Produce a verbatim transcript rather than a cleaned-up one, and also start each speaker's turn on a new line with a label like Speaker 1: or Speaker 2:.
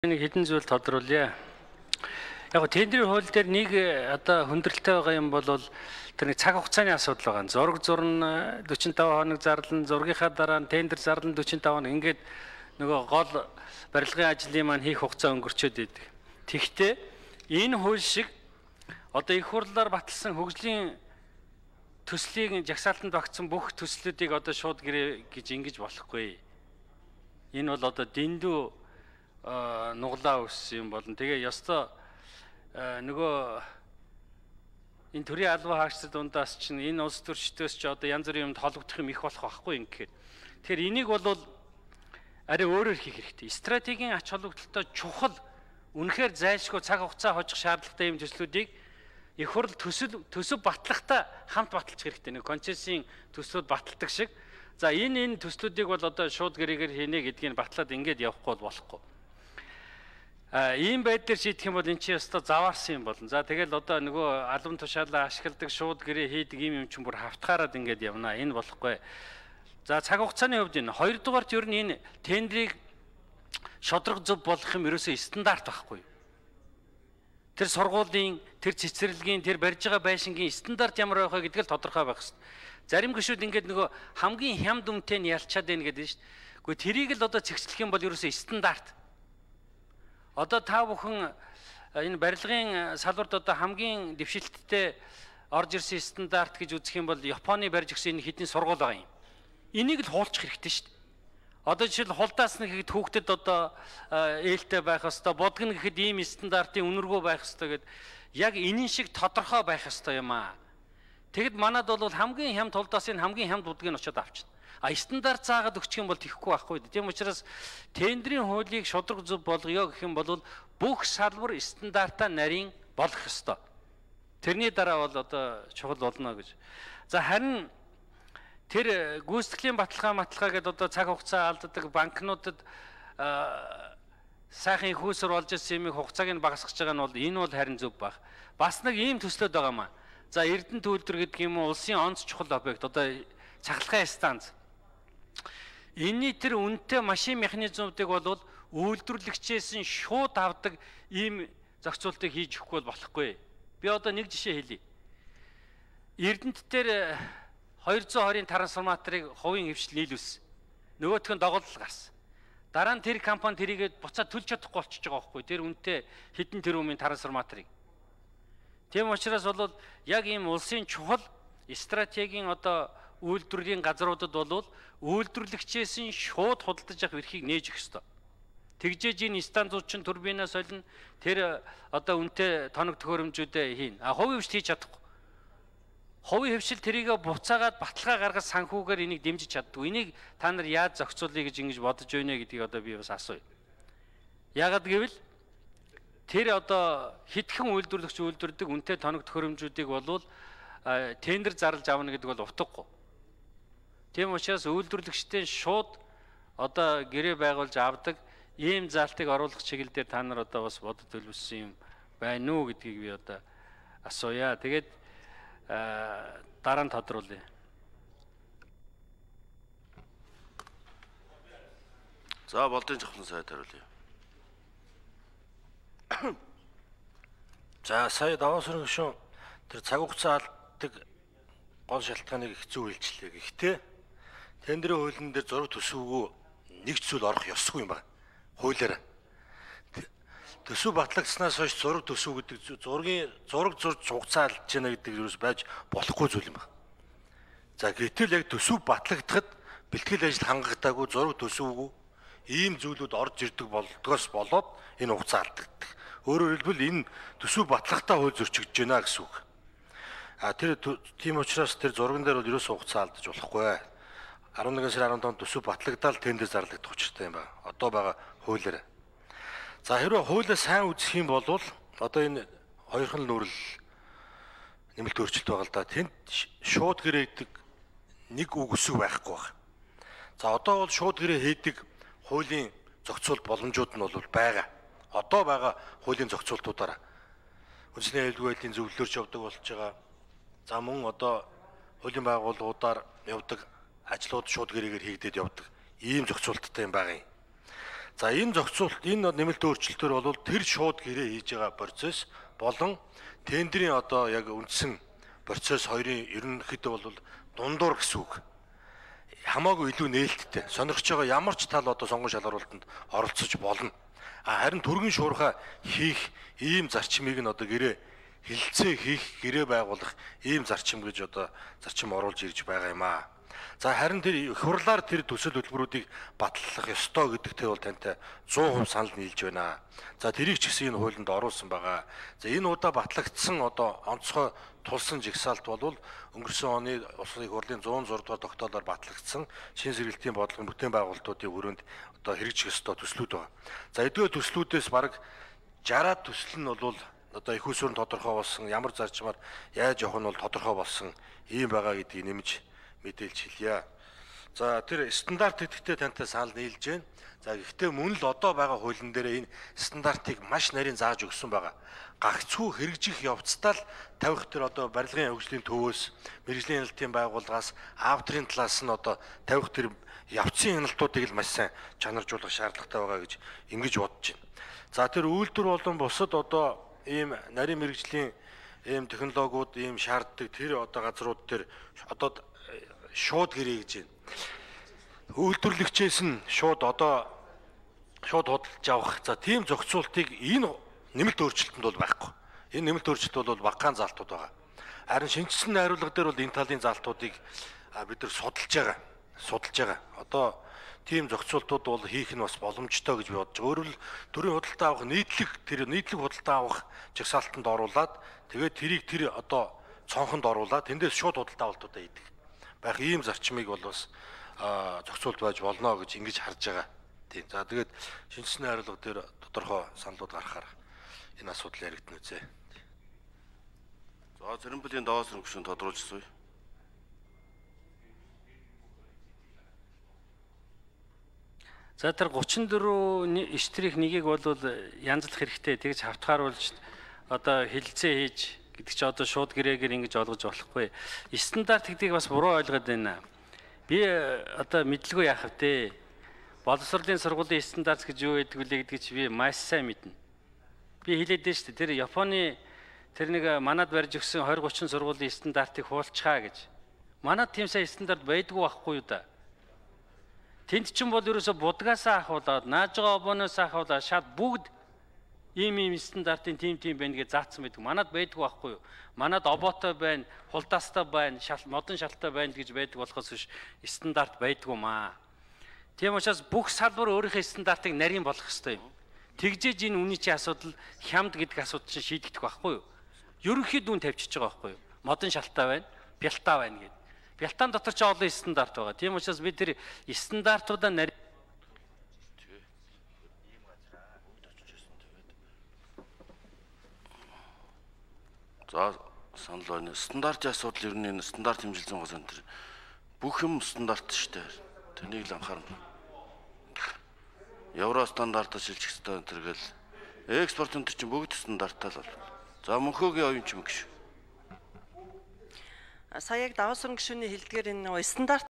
Speaker 1: Нэг хэдэн зүйл тодруулъя. Яг тендерийн хууль дээр нэг одоо хүндрэлтэй байгаа юм бол тэр нэг цаг хугацааны асуудал байгаа. Зураг зурна forty-five хоног зарлан, зургийнхаа дараа тендер зарлан forty-five хоног ингээд нөгөө гол барилгын ажлын маань хийх хугацаа өнгөрчөөд идэг. Тэгвэл энэ хууль шиг одоо их хурлаар баталсан хөгжлийн төслийг жагсаалтанд багтсан бүх төслүүдийг одоо шууд гэрээ гэж ингэж болохгүй. Энэ бол одоо дэндүү нуглаа өссөн юм болно. Тэгээ ёстой нөгөө энэ төрийн албан хаагчдад дундаас чинь энэ улс төрчдөөс ч одоо янз бүрийн юмд холбогдох юм их болох байхгүй юм гэхээр. Тэгэхээр энийг бол арай өөрөөр хийх хэрэгтэй. Стратегийн ач холбогдолтой чухал үнэхээр зайлшгүй цаг хугацаа хожих шаардлагатай юм төслүүдийг их хурл төсөл төсөв батлахтаа хамт баталчих хэрэгтэй. Нэг концессийн төслүүд баталдаг шиг. За энэ энэ төслүүдийг бол одоо шууд гэрээгээр хийнэ гэдгийг батлаад ингээд явахгүй болохгүй. А ийм байдлаар шийдэх юм бол эн чинь өстой заваарсан юм болно. За тэгэл одоо нөгөө албан тушаалаа ашигладаг шууд гэрээ хийдэг ийм юм чинь бүр хавтгаараад ингээд явна. Энэ болохгүй. За цаг хугацааны хувьд энэ хоёрдугаарт ер нь энэ тендрийг шодрог зөв болох юм ерөөсөө стандарт байхгүй. Тэр сургуулийн, тэр цэцэрлэгийн, тэр барьж байгаа байшингийн стандарт ямар байх вэ гэдгийг л тодорхой байх хэрэгтэй. Зарим гишүүд ингээд нөгөө хамгийн хямд үнэтэй нь ялчаад байна гэдэг нь шүү дээ. Гэхдээ тэрийг л одоо цэгцлэх юм бол ерөөсөө стандарт. Одоо та бүхэн энэ барилгын салбарт одоо хамгийн дэвшилттэй орж ирсэн стандарт гэж үзэх юм бол Японы барьж өгсөн энэ хэдийн сургууль байгаа юм. Энийг л хуулчих хэрэгтэй шүү дээ. Одоо жишээл хулдаас нэг хэд хүүхдэд одоо ээлтэй байх ёстой, бодгоно гэхэд ийм стандартын үнэргүй байх ёстой гэд яг энэн шиг тодорхой байх ёстой юм аа. Тэгэд манад бол хамгийн хямд хулдаас энэ хамгийн хямд будгийг очиод авчихна. А стандарт заагаад өгчих юм бол тэхгүй байхгүй. Тийм учраас тендерийн хуулийг шудраг зөв болгоё гэх юм бол бүх салбар стандартаа нарийн болох ёстой. Тэрний дараа бол одоо чухал болно гэж. За харин тэр гүйцэтгэлийн баталгаа маталгаа гэдэг одоо цаг хугацаа алддаг банкнуудад сайхан их усөр болж ирсэн юмыг хугацааг нь багасгах байгаа нь бол энэ бол харин зөв баг. Бас нэг ийм төслүүд байгаа маа. За Эрдэнэ төлөвлөр гэдэг юм уу улсын онц чухал объект одоо цахилгаан станц. Энийний тэр үнэтэй машин механизмуудыг бол үйлдвэрлэгчээс нь шууд авдаг ийм зохицуултыг хийж өгөхгүй болохгүй. Би одоо нэг жишээ хэлье. Эрдэнэт дээр two twenty трансформаторыг хувийн хвшил нийлүүлсэн. Нөгөөх нь доголдол гарсан. Дараа нь тэр компани тэрийгээ буцаад төлж чадахгүй болчихж байгаа байхгүй. Тэр үнэтэй хэдэн тэрбумын трансформаторыг. Тийм учраас бол яг ийм улсын чухал стратегийн одоо үйлдвэрийн газруудад бол үйлдвэрлэгчээс нь шууд худалдаж авах эрхийг нээж өгөх ёстой. Тэгжээж энэ станцууд чинь турбинаас олно тэр одоо үнэтэй тоног төхөөрөмжүүдээ хийн. А хувийн хвшил хийж чадахгүй. Хувийн хвшил тэрийгэ буцаагаад баталгаа гаргаж санхүүгээр энийг дэмжиж чаддгүй. Энийг та нар яаж зохицуулъя гэж ингэж бодож байна гэдгийг одоо би бас асууя. Яагаад гэвэл тэр одоо хэдхэн үйлдвэрлэгч үйлдвэрдэг үнэтэй тоног төхөөрөмжүүдийг болвол тендер зарлж авна гэдэг бол утгагүй. Тийм учраас үйлдвэрлэгчдийн шууд одоо гэрээ байгуулж авдаг ийм заалтыг оруулах чиглэл дээр та нар одоо бас бодож төлөвлөсөн юм байна уу гэдгийг би одоо асууя. Тэгээд дараа нь тодруулъя.
Speaker 2: За болдын жавхлан сайд хариулъя.
Speaker 3: За сая даваа сүрэн гишүүн тэр цаг хугацаа алдаг гол шалтгааныг хэцүү хэлжлээ. Гэхдээ тендерийн хуулийн дээр зураг төсөвгөө нэг зүйл орох ёсгүй юм байна. Хуулиар. Төсөв батлагдсанаас хойш зураг төсөв гэдэг зургийн зураг зурж хугацаа алдж яана гэдэг юус байж болохгүй зүйл юм байна. За гэтэл яг төсөв батлагдахад бэлтгэл ажил хангагдаагүй зураг төсөвгүй ийм зүйлүүд орж ирдэг болдгоос болоод энэ хугацаа алдагддаг. Өөрөөр хэлбэл энэ төсөв батлахтаа хууль зөрчигдөж байна гэсэн үг. А тэр тийм учраас тэр зурган дээр бол ерөөсөө хугацаа алдаж болохгүй. eleven сарын fifteen төсөв батлагдаад тендер зарлагдах учиртай юм байна. Одоо байгаа хуулиар. За хэрвээ хуулиа сайн үзэх юм бол одоо энэ хоёрхан нүрэл нэмэлт өөрчлөлт байгаа л да. Тэнд шууд гэрээ хийдэг нэг үг өсөв байхгүй байна. За одоо бол шууд гэрээ хийдэг хуулийн зохицуулт боломжууд нь бол байгаа. Одоо байгаа хуулийн зохицуултуудаараа үндэсний аюулгүй байдлын зөвлөлөөрч явдаг болж байгаа. За мөн одоо хуулийн байгууллагуудаар явдаг ажлууд шууд гэрээгээр хийгдээд явдаг. Ийм зохицуулттай юм байгаа юм. За энэ зохицуулт энэ нэмэлт өөрчлөлтөөр бол тэр шууд гэрээ хийж байгаа процесс болон тендерийн одоо яг үндсэн процесс хоёрын ерөнхийдөө бол дундуур гэсэн үг. Хамаагүй илүү нээлттэй. Сонирхож байгаа ямар ч тал одоо сонгон шалгаруулалтанд оролцож болно. А харин түргэн шуурхай хийх ийм зарчмыг нь одоо гэрээ хилцээ хийх, гэрээ байгуулах ийм зарчим гэж одоо зарчим оруулж ирж байгаа юм аа. За харин тэр их хурлаар тэр төсөл хөтөлбөрүүдийг батлах ёстой гэдэгтээ бол тантай сто процент санал нийлж байна. За тэрийг ч гэсэн энэ хуулинд оруулсан байгаа. За энэ удаа батлагдсан одоо онцгой тулсан жигсаалт бол өнгөрсөн оны улсын их хурлын зуун зураг дугаар тогтоолоор батлагдсан шин сэргэлтийн бодлогын бүтээн байгуулалтуудын хүрээнд одоо хэрэгжих ёстой төслүүд байгаа. За эдгээр төслүүдээс бараг шестьдесят төсөл нь бол одоо их усүрэн тодорхой болсон, ямар зарчмаар яаж явах нь бол тодорхой болсон ийм байгаа гэдгийг нэмж мэдээлж хэлье. За тэр стандарт гэдэгтээ тантай санал нийлж байна. За гэхдээ мөн л одоо байгаа хуулийн дээр энэ стандартыг маш нарийн зааж өгсөн байгаа. Гагцхүү хэрэгжих явцдаа л тавих тэр одоо барилгын хөгжлийн төвөөс, мэрэгжлийн хяналтын байгууллагаас, авторын талаас нь одоо тавих тэр явцын хяналтуудыг л маш сайн чанаржуулах шаардлагатай байгаа гэж ингэж бодож байна. За тэр үйлдвэр болон бусад одоо ийм нарийн мэрэгжлийн ийм технологиуд ийм шаарддаг тэр одоо газрууд дээр одоо шууд гэрээ гэж байна. Үйлдвэрлэгчээс нь шууд одоо шууд худалдаж авах. За тийм зохицуултыг энэ нэмэлт өөрчлөлтөнд бол байхгүй. Энэ нэмэлт өөрчлөлт бол багахан залтууд байгаа. Харин шинжилсэн найруулга дээр бол энэ талын залтуудыг бид нар судалж байгаа. Судалж байгаа. Одоо тийм зохицуултууд бол хийх нь бас боломжтой гэж би бодож байгаа. Өөрөөр хэл төрийн худалдаа авах нийтлэг тэр нийтлэг худалдаа авах жагсаалтанд оруулаад тэгээд тэрийг тэр одоо цонхонд оруулаад тэндээс шууд худалдаа авалтуудаа хийдэг. Байх ийм зарчмыг бол бас зохицуулт байж болно гэж ингэж харж байгаа. Тийм. За тэгээд шинжилсэн найруулга дээр тодорхой саналууд гаргахаар энэ асуудал яригдана үзье.
Speaker 2: За Цэрэнбэлийн даваа сэрэн гүшүүн тодруулжсуу.
Speaker 1: За тэр гучин дөрөв эштрих нэгийг бол янзлах хэрэгтэй. Тэгж хавтгааруулж одоо хилцээ хийж гэдэг чи одоо шууд гэрээгээр ингэж олгож болохгүй. Стандарт гэдгийг бас буруу ойлгоод байна. Би одоо мэдлгүй яах вэ? Боловсролын сургуулийн стандарт гэж юу гэдэг вэ гэдгийг чи би маш сайн мэднэ. Би хэлээд дээ шүү дээ. Тэр Японы тэр нэг манад барьж өгсөн двадцать тридцать сургуулийн стандартыг хуулчихаа гэж. Манад тийм сайн стандарт байдгүй байхгүй юу да? Тэнд чинь бол ерөөсө будгаасаа ахуулаад, нааж байгаа обоноос ахуулаад шат бүгд ийм ийм стандартын тим тим байна гэж заасан байдаг. Манад байдгүй байхгүй юу? Манад оботой байна, хулдаастай байна, модон шалтай байна гэж байдаг болохоос биш стандарт байдгүй маа. Тийм учраас бүх салбар өөрийнхөө стандартыг нарийн болгох ёстой юм. Тэгжээж энэ үний чинь асуудал хямд гэдэг асуудал чинь шийдэгдэх байхгүй юу? Ерөнхий дүн тавьчихж байгаа байхгүй юу? Модон шалтай байна, бялтаа байна гэдэг. Бялтаан дотор ч олон стандарт байгаа. Тийм учраас бид тэр стандартуудаа нарийн
Speaker 2: За санал байна. Стандартын асуудал ер нь энэ стандарт хэмжилсэн гол энэ бүх юм стандарт шүү дээ. Тэнийг л анхаарна. Евро стандартаар шилжих хэрэгтэй энэ төргээл экспортын төр чинь бүгд стандарттай л бол. За мөнхөөгийн оюун ч юм гэж.
Speaker 4: Сая яг даваа сэрэн гишүүний хэлдгээр энэ стандарт